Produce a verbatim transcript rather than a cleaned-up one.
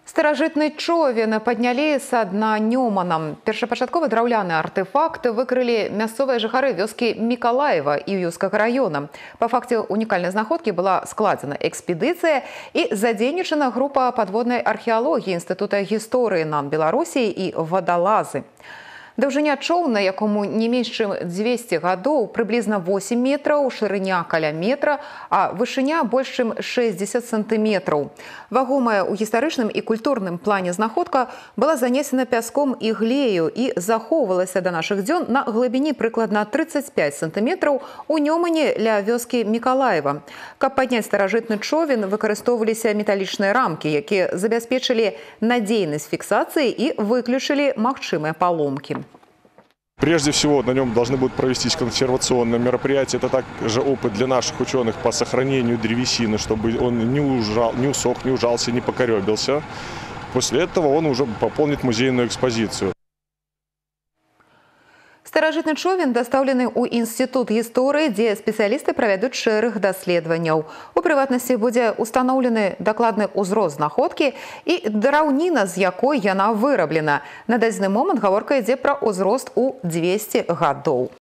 Старажытны човен паднялі са дна Нёмана. Першапачатковы драўляны артефакт выкрылі мясцовыя жыхары вёскі Мікалаева і Юскага района. Па факце унікальнай знаходкі была складзена экспедыцыя і задзейнічана група падводнай археалогіі Інстытута гісторыі НАН Беларусі і вадалазы. Даўжыня чоўна, якому не менш чым дзвесце гадоў, прыблізна восем метраў, шырыня каля метра, а вышыня больш чым шэсцьдзесят сантыметраў. Вагомая ў гістарычным і культурным плане знаходка была занесена пяском і глею і захоўвалася да нашых дзён на глыбіні прыкладна трыццаць пяць сантыметраў у Нёмане ля вёскі Мікалаева. Каб падняць старажытны човен, выкарыстоўваліся металічныя рамкі, якія забяспечылі надзейнасць фіксацыі і выключылі магчымыя паломкі. Прежде всего, на нем должны будут провестись консервационные мероприятия. Это также опыт для наших ученых по сохранению древесины, чтобы он не, ужал, не усох, не ужался, не покоребился. После этого он уже пополнит музейную экспозицию. Старажытны човен дастаўлены ў Інстытут гісторыі, дзе спецыялісты правядуць шэраг даследаванняў. У прыватнасці будзе ўстаноўлены дакладны ўзрост знаходкі і драўніна, з якой яна выраблена. На дадзены момант гаворка ідзе пра ўзрост у дзвесце гадоў.